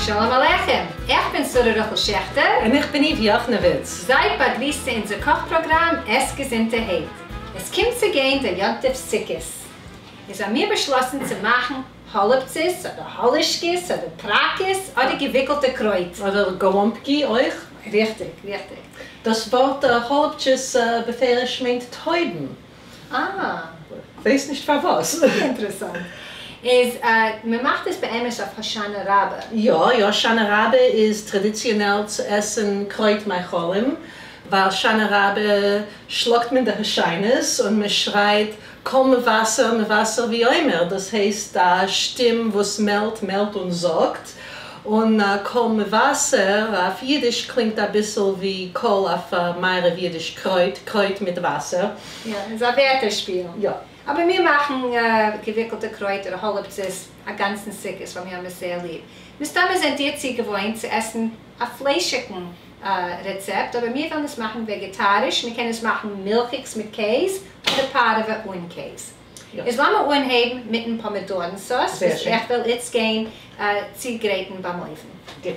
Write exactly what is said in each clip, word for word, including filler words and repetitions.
שלום עליכם! איך בין שרה רחל שעכטער. און איך בין איוו יאכנעוויץ. זייט באגריסט צו אונזער קאך פראגראם עס געזונטערהייט. עס קומט צו גיין דער יום טוב סוכות. איז האמיר באשלאסן צו מאכן האלעפצעס אדער האלישקעס אדער פראקעס אדער געוויקלטע קרויט. אדער גאלאמפקי אויך. ריכטיג, ריכטיג. דאס ווארט האלעפטשעס בפירוש מיינט טויבן. אה. כ'ווייס נישט פארוואס. אינטערעסאנט. איז מען מאכט עס באמת אויף הושענא רבה. יא יא, הושענא רבה איז טראדיציאנעל צו עסן קרויט מאכלים, ווייל הושענא רבה שלאגט מען די הושענות און מען שרייט קול מבשר מבשר ואומר, דאס הייסט א שטים וואס מעלדט מעלדט און זאגט, און קול מבשר אויף אידיש קלינגט אביסל ווי קול אויף מערב אידיש קרויט, קרויט מיט וואסער. יא, איז א ווערטער שפיל. יא. אבער מיר מאכן געוויקלטע קרויט אדער האלעפצעס א גאנצן סוכות ווייל מיר האבן עס זייער ליב. מסתמא זענט איר צוגעוואוינט צו עסן א פליישיגן רעצעפט, אבער מיר וועלן עס מאכן וועגעטאריש, מען קען עס מאכן מילכיגס מיט קעז אדער פארעווע אן קעז. איז לאמיר אנהייבן מיטן פאמידארן סאוס וואס איך וועל איצט גיין צוגרייטן ביים אויוון. גוט.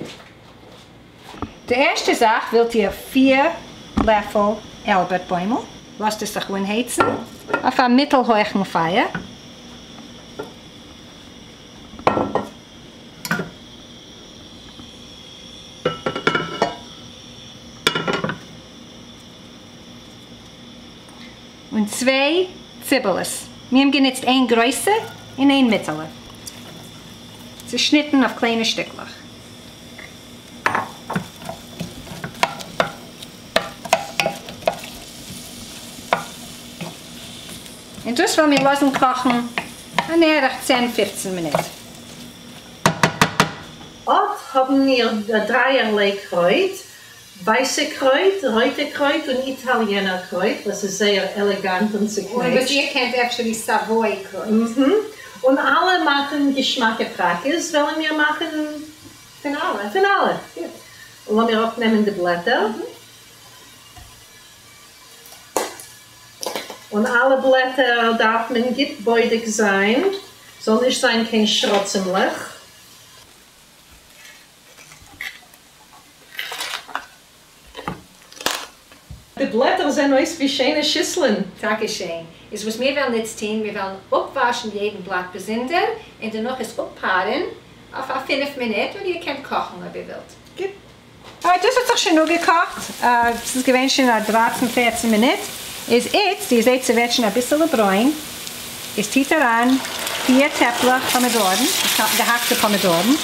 די ערשטע זאך ווילט איר פֿיר לעפל איילבערט בוימל, לאזט עס זיך אנהייצן אויף א מיטל הויכן פייער. און צוויי ציבעלעס. מיר האבן גענוצט איין גרויסע און איין מיטעלע. צעשניטן אויף קליינע שטיקלעך. און דאס וועלן מיר לאזן קאכן אן ערך צען פופצן מינוט. אט האבן מיר דרייערליי קרויט, ווייסע קרויט, רויטע קרויט און איטאליענער קרויט וואס איז זייער עלעגאנט און צוקנעטשט. און וואס איר קענט אפשר די סאוואוי קרויט. און אלע מאכן געשמאקע פראקעס, וועלן מיר מאכן פון אלע. פון אלע. גוט. און לאמיר אפנעמען די בלעטער. און אלע בלעטער דארף מען גוט בודק זיין, זאל נישט זיין קיין שרצימלעך. די בלעטער זען אויס ווי שיינע שיסלען. טאקע שיין. איז וואס מיר וועלן איצט טון, מיר וועלן אפוואשן יעדן בלאט באזונדער, און דערנאך עס אפפארען אויף א פֿינף מינוט, אדער איר קענט קאכן אויב איר ווילט. גוט. ארייט, דאס האט זיך שוין אפגעקאכט, ס'איז געווען שוין א דרײַצן פֿערצן מינוט, איז איצט, איר זעט ס'ווערט שוין אביסעלע ברוין, איז טוט אריין פֿיר טעפלעך פאמידארן, געהאקטע פאמידארן,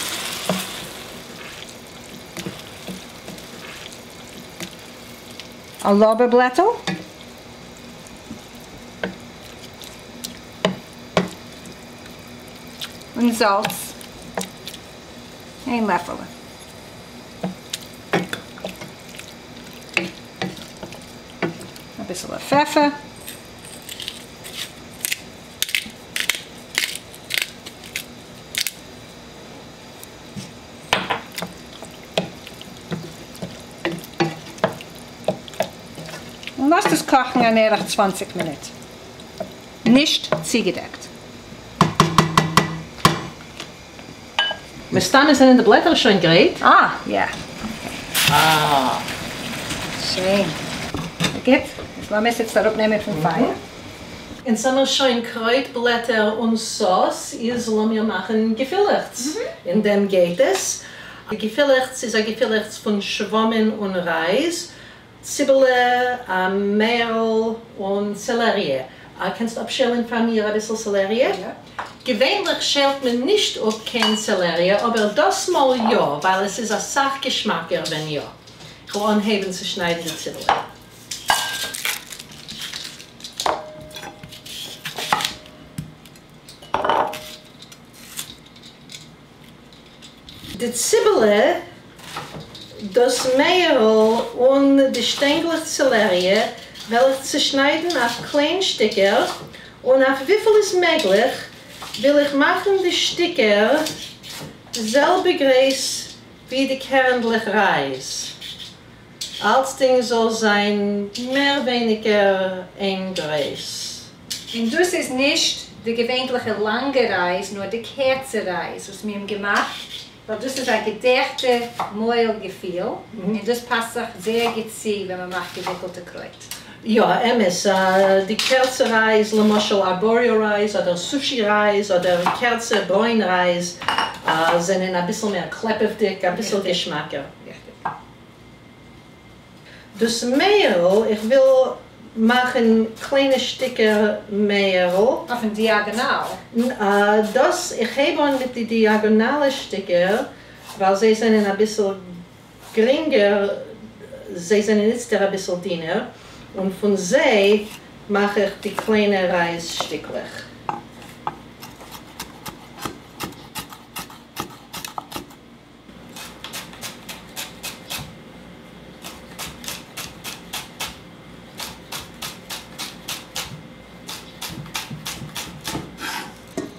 א לארבער בלעטל, און זאלץ, איין לעפעלע. אביסעלע פעפער. און לאזט עס קאכן אן ערך צוואַנציק מינוט. נישט צוגעדעקט. מסתמא זענען די בלעטער שוין גרייט. אה, יא. אה. שיין. גוט, איז לאמיר עס איצט אראפנעמען פון פייער. אונז האמיר שוין קרויט בלעטער און סאוס, איז לאמיר מאכן געפילעכטס. אין דעם גייט עס. די געפילעכטס איז א געפילעכטס פון שוואמען און רייז, ציבעלע, מערל און סעלעריע. קענסט אפשעלען פאר מיר אביסל סעלעריע? יא. געווענליך שעלט מען נישט אפ קיין סעלעריע, אבער דאס מאל יא, ווייל עס איז אסאך געשמאקער ווען יא. כ'וועל אנהייבן צו שניידן די ציבעלע. די ציבעלע, דאס מערל און די שטענגלעך סעלעריע וועל איך צושניידן אויף קליין שטיקער, און אויף וויפיל איז מעגליך וויל איך מאכן די שטיקער די זעלבע גרייס ווי די קערנדלעך רייז. אלצדינג זאל זיין מער ווייניגער איין גרייס. און דאס איז נישט די געווענליכע לאנגע רייז, נאר די קערצע רייז וואס מיר האבן געמאכט, ווייל דאס איז א געדעכטע מויל-געפיל, און דאס פאסט זיך זייער גוט צו ווען מען מאכט געוויקלטע קרויט. יא, אמת. די קערצע רייז, למשל ארבאריאו רייז אדער סושי רייז אדער קערצע ברוין רייז, זענען אביסל מער קלעפעוודיג, אביסל געשמאקער. דאס מערל, איך וויל מאכן קליינע שטיקער מערל. אויפן דיאגאנאל? דאס, איך הייב אן מיט די דיאגאנאלע שטיקער, ווייל זיי זענען אביסל גרינגער, זיי זענען איצטער אביסל דינער, און פון זיי מאך איך די קליינע רייז שטיקלעך.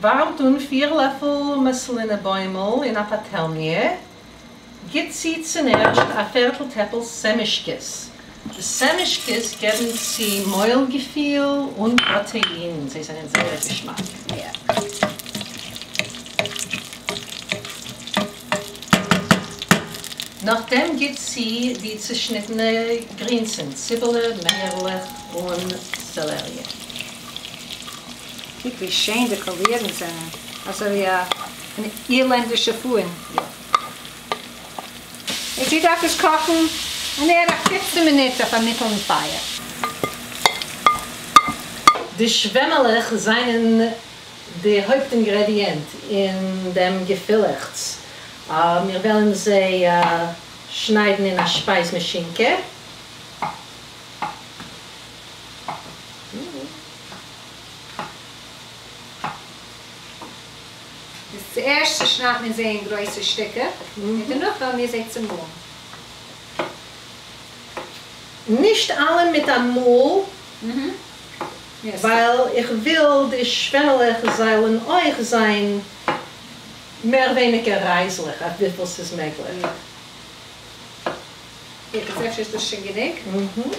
ווארעמט אן פיר לעפל מאסלינע בוימל אין א פאטעלניע, גיט צו צונערשט א פערטל טעפל סעמישקעס. די סעמישקעס געבן צו מויל-געפיל און פראטעין, זיי זענען זייער געשמאק. נאכדעם גיט צו די צעשניטענע גרינסן, ציבעלע, מערעלעך און סעלעריע. קוק ווי שיין די קאלירן זענען, אזוי ווי אן אירלענדישע פאן. און זי דארף עס קאכן אן ערך פֿופֿצן מינוט אויף א מיטעלן פייער. די שוועמעלעך זענען די הויפט אינגרעדיענט אין דעם געפילעכץ. מיר וועלן זיי שניידן אין א שפייז מאשינקע. איז צוערשט צעשניידט מען זיי אין גרויסע שטיקער, און דערנאך וועלן מיר זיי צעמאלן. נישט אלע מיט א מאל, ווייל איך וויל די שוועמעלעך זאלן אויך זיין מער ווייניגער רייזלעך אויף וויפיל ס'איז מעגליך. יא, אפשר איז דאס שוין גענוג?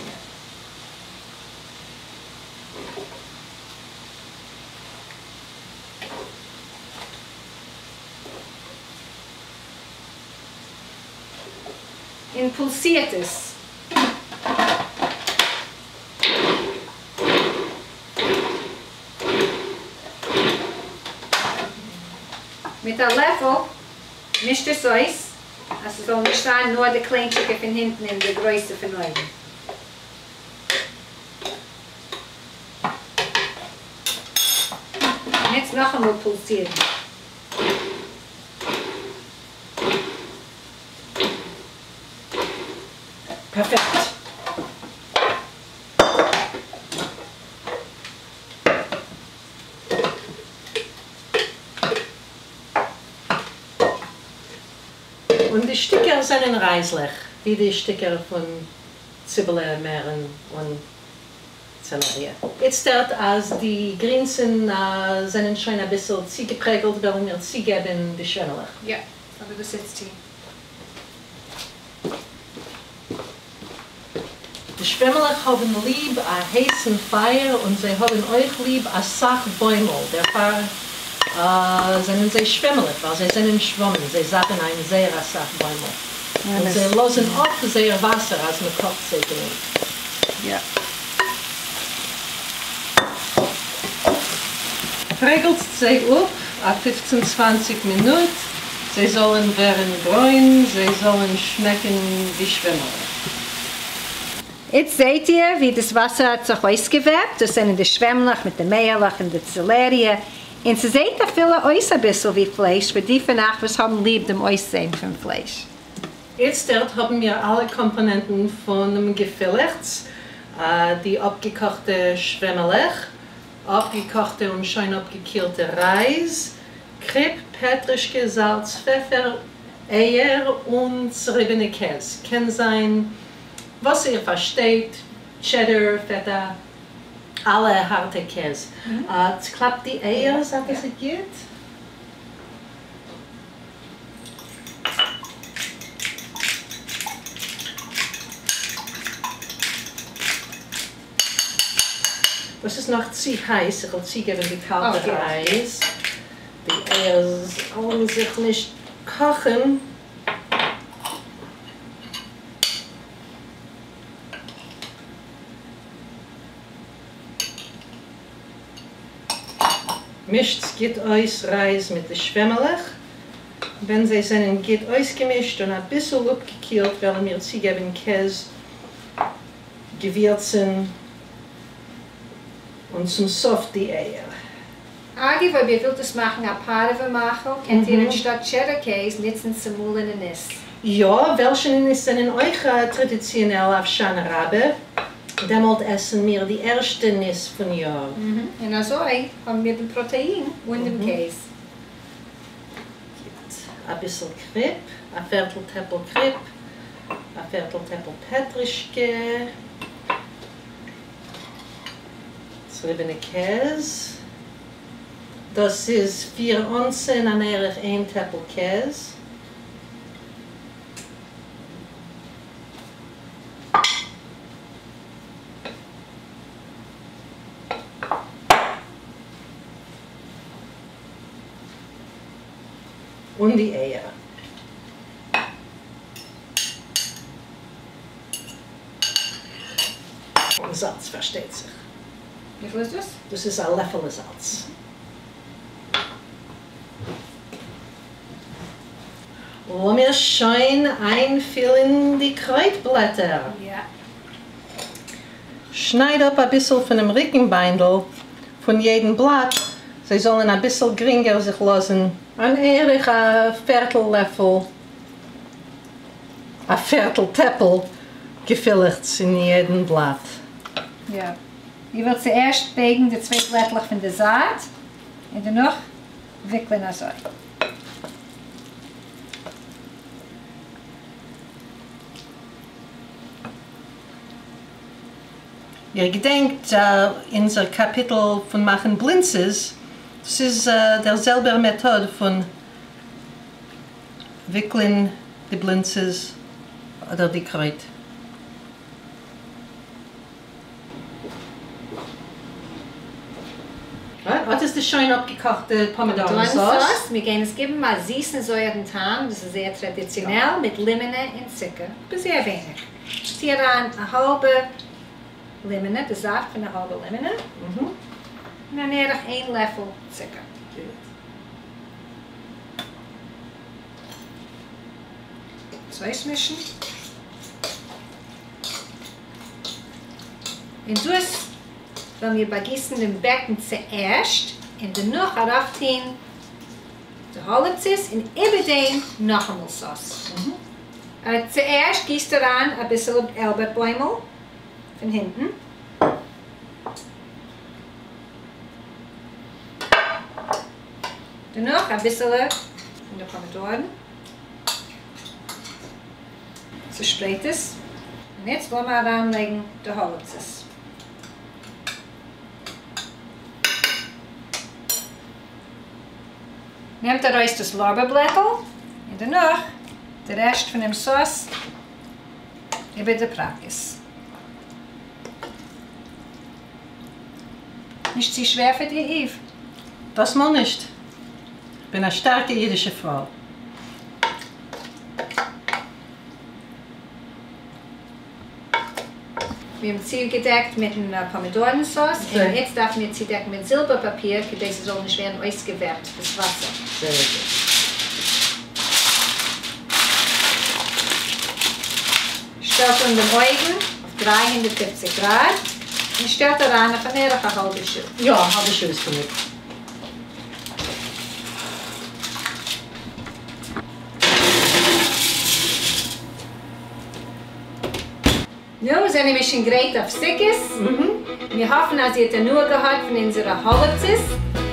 און פולסירט עס. מיט א לעפל מישט עס אויס אז ס'זאל נישט זיין נאר די קליינטשיקע פון הינטן און די גרויסע פון אויבן. און יעצט נאכאמאל פולסירן. פערפעקט. און די שטיקער זענען רייזלעך, ווי די שטיקער פון ציבעלע, מערן און צעלעריע. איצטערט אז די גרינסן זענען שוין אביסל צוגעפרעגלט וועלן מיר צוגעבן די שוועמעלעך. יא, אבער דאס איצט טון. די שוועמעלעך האבן ליב א הייסן פייער און זיי האבן אויך ליב אסאך בוימל, דערפאר זענען זיי שוועמעלעך, ווייל זיי זענען שוואמען, זיי זאפן איין זייער אסאך בוימל, און זיי לאזן אפ זייער וואסער אז מען קאכט זיי גענוג. יא. פרעגלט זיי אפ א פֿופֿצן צוואַנציק מינוט, זיי זאלן ווערן ברוין, זיי זאלן שמעקן ווי שוועמעלעך. איצט זעט איר ווי דאס וואסער האט זיך אויסגעוועפט, דאס זענען די שוועמלעך מיט די מעהלעך און די צעלעריע, און ס'זעט אפילו אויס אביסל ווי פלייש פאר די פון אייך וואס האבן ליב דעם אויסזען פון פלייש. איצטערט האבן מיר אלע קאמפאנענטן פונעם געפילעכץ, די אפגעקאכטע שוועמעלעך, אפגעקאכטע און שוין אפגעקילטע רייז, קריפ, פעטרישקע, זאלץ, פעפער, אייער און צעריבענע קעז, קען זיין וואס איר פארשטייט, טשעדער, פעטא, אלע הארטע קעז. צוקלאפט די אייער, זאגט עס גוט? דאס איז נאך צו הייס, איך וועל צוגעבן די קאלטע רייז. די אייער זאלן זיך נישט קאכן. מישט גוט אויס רייז מיט די שוועמעלעך. ווען זיי זענען גוט אויסגעמישט און א ביסל אפגעקילט, וועלן מיר צוגעבן קעז, געווירצן און צום סוף די אייער. אגב, אויב איר ווילט עס מאכן א פארעווע מאכל, קענט איר אנשטאט טשעדער קעז ניצן צעמאלענע ניס. יא, וועלשענע ניס זענען אויך טראדיציאנעל אויף הושענא רבה. דעמאלט עסן מיר די ערשטע ניס פון יאר. און אזוי האבן מיר דעם פראטעין און דעם קעז. א ביסל קריפ, א פערטל טעפל קריפ, א פערטל טעפל פעטרישקע, צעריבענע קעז. דאס איז פיר אונסן, אן ערך איין טעפל קעז. און די אייער. און זאלץ, פארשטייט זיך. וויפיל איז דאס? דאס איז א לעפעלע זאלץ. לאמיר שוין איינפילן די קרויטבלעטער. יא. שנייד אפ א ביסל פונעם ריקנביינדל פון יעדן בלאט, זיי זאלן א ביסל גרינגער זיך לאזן. אן ערך א פערטל לעפל, א פערטל טעפל געפילעכץ אין יעדן בלאט. יא. איר ווילט צוערשט בייגן די צוויי בלעטלעך פון די זייט און דערנאך וויקלען אזוי. איר געדענקט אונזער קאפיטל פון מאכן בלינצעס? דאס איז דער זעלבער מעטאד פון וויקלען די בלינצעס אדער די קרויט. אט איז די שוין אפגעקאכטע פאמידארן סאוס. מיר גייען עס געבן א זיסן זויערן טעם, דאס איז זייער טראדיציאנעל, מיט לימענע און צוקער, אבער זייער ווייניג. טו אריין א האלבע לימענע, די זאפט פון א האלבע לימענע, און אן ערך איין לעפל צוקער. דאס אויסמישן. און דאס וועלן מיר באגיסן דעם בעקן צוערשט, און דערנאך ארויפטון די האלעפצעס און איבער דעם נאכאמאל סאוס. צוערשט גיסט אריין אביסל איילבערט בוימל פון הינטן. דערנאך אביסעלע פון די פאמידארן. צעשפרייט עס. און יעצט וועלן מיר אריינלייגן די האלעפצעס. נעמט ארויס דאס לארבער בלעטל און דערנאך די רעשט פון דעם סאוס איבער די פראקעס. נישט צו שווער פאר דיר, איוו? דאס מאל נישט. כ'בין א שטארקע אידישע פרוי. מיר האבן צוגעדעקט מיטן פאמידארן סאוס, און איצט דארפן מיר צודעקן מיט זילבער פאפיר, כדי ס'זאל נישט ווערן אויסגעוועפט דאס וואסער. זייער גוט. שטעלט אן דעם אויוון אויף דרײַ הונדערט פֿופֿציק גראד און שטעלט אריין אויף אן ערך א האלבע שעה. יא, א האלבע שעה איז גענוג. נו, זענען מיר שוין גרייט אויף סוכות? מיר האפן אז איר האט הנאה געהאט פון אונזערע האלעפצעס.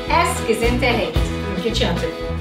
עסט געזונטערהייט. גוט יום טוב.